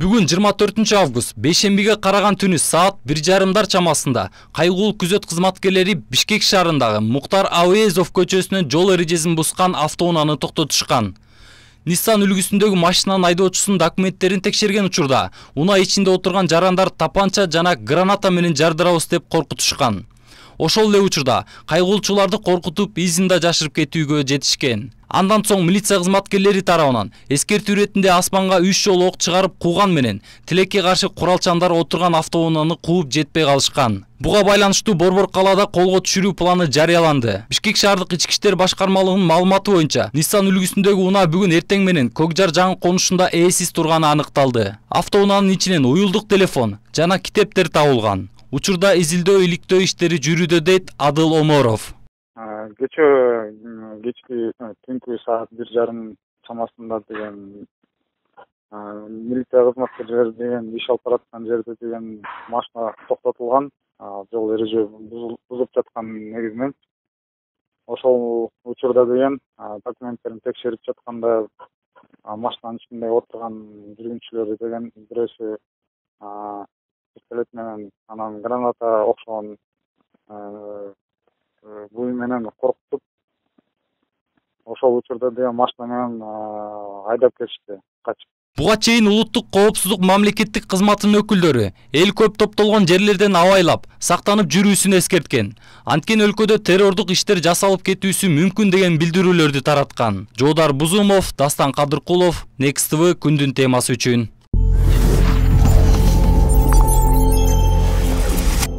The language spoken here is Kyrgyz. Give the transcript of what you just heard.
Бүгүн 24-август бейшембиге караган түнү саат 1:30 чамасында кайгылуу күзөт кызматкерлери Бишкек шаарындагы Муктар Ауезов көчөсүнөн жол эрежесин бускан автоунааны токтотушкан. Nissan үлгүсүндөгү машинанын айдоочусунун документтерин текшерген учурда унаа ичинде отурган жарандар тапанча жана граната менен жардырабыз деп коркутушкан. Ошол эле учурда кайгылуучуларды коркутуп изинда жашырып кетүүгө жетишкен. Андан соң милиция кызматкерлери тарабынан эскертүү иретинде асманга 3 жолу ок чыгарып кууган менен тилекке каршы куралчандар отурган автоунааны кууп жетпей калышкан. Буга байланыштуу Борбор калаада колго түшүрүү планы жарыяланды. Бишкек шаардык ички иштер башкармалыгынын маалыматы боюнча, Nissan үлгүсүндөгү унаа бүгүн эртең менен Көкжар жаңы конушунда ээсиз турганы аныкталды. Автоунаанын ичинен уюлдук телефон жана китептер табылган. Учурда изилдөө иликтөө иштери жүрүүдө, дейт Адыл Оморов. Кечки түнкү саат 1:30 чамасында деген милиция кызматкерлери деген иш алып бараткан жерде деген машина токтотулган, жол эреже бузуп жаткан негизинен. Ошол учурда деген документтерин текшерип жатканда машинанын ичинде отурган жүргүнчүлөр деген бирөөсү пистолет менен анан граната окшогон буй менен коркутуп, ошол учурда деген машина менен айдап кетишти, качып. Буга чейин улуттук коопсуздук мамлекеттик кызматынын өкүлдөрү эл көп топтолгон жерлерден абайлап, сактанып жүрүүсүн эскерткен. Анткени өлкөдө террордук иштер жасалып кетүүсү мүмкүн деген билдирүүлөрдү тараткан. Жоодар Бузумов, Дастан Кадыркулов, Next TV күндүн темасы үчүн.